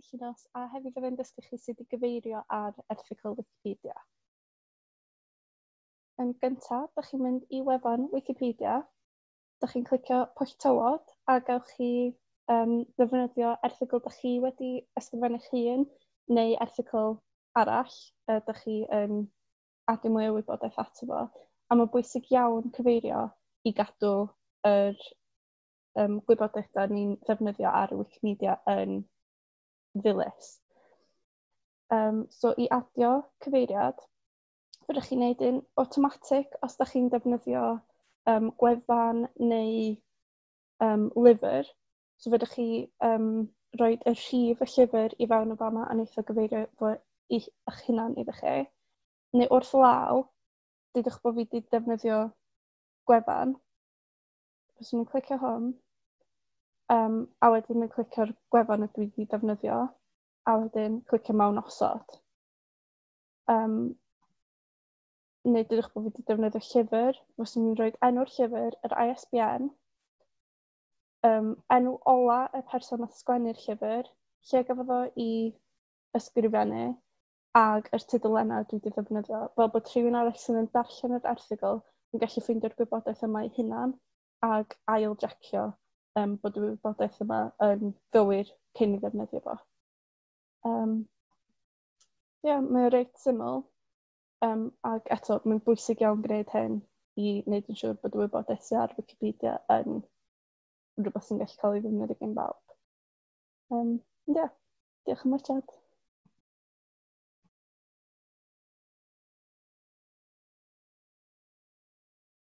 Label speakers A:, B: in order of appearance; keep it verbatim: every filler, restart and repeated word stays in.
A: Llinos a hefyd fyddai'n dysgu chi sut i gyfeirio ar erthygl Wikipedia. Yn gyntaf, dach chi'n mynd i wefan Wikipedia, dach chi'n clicio Pwll Tywod a gewch chi um, ddefnyddio erthygl dach chi wedi ysgrifennu'ch hun neu erthygl arall uh, dach chi yn adio mwy o wybodaeth ato fo. A mae'n bwysig iawn cyfeirio i gadw yr um, gwybodaeth da ni'n ddefnyddio ar Wikimedia yn ddilys. Um, so i adio cyfeiriad, fedrwch chi wneud un automatic os da chi'n defnyddio um, gwefan neu um, lyfr. So fedrwch chi um, rhoi y rhif y llyfr i fewn o fama a wneith o gyfeirio fo i eich hunan iddo chi. Neu wrth law, dudwch bod fi wedi defnyddio gwefan. Fyswn i'n clicio hwn, um, a wedyn yn clicio'r gwefan y dwi wedi defnyddio, a wedyn clicio mewn osod. Um, neu dudwch bod fi wedi defnyddio llyfr, fyswn i'n rhoi enw'r llyfr, yr I S B N, um, enw ola y person nath sgwennu'r llyfr, lle gafodd o i ysgrifennu, ag yr tudalennau dwi wedi ddefnyddio, fel bod rhywun arall sydd yn darllen yr erthygl yn gallu ffeindio'r gwybodaeth yma ei hunan ag ail-jacio um, bod y wybodaeth yma yn gywir cyn i ddefnyddio fo. Um, yeah, mae o reit syml, um, ag eto mae'n bwysig iawn gwneud hyn i wneud yn siŵr bod y wybodaeth sydd ar Wikipedia yn rhywbeth sy'n gallu cael ei ddefnyddio gan bawb. Um, yeah, diolch am watsiad.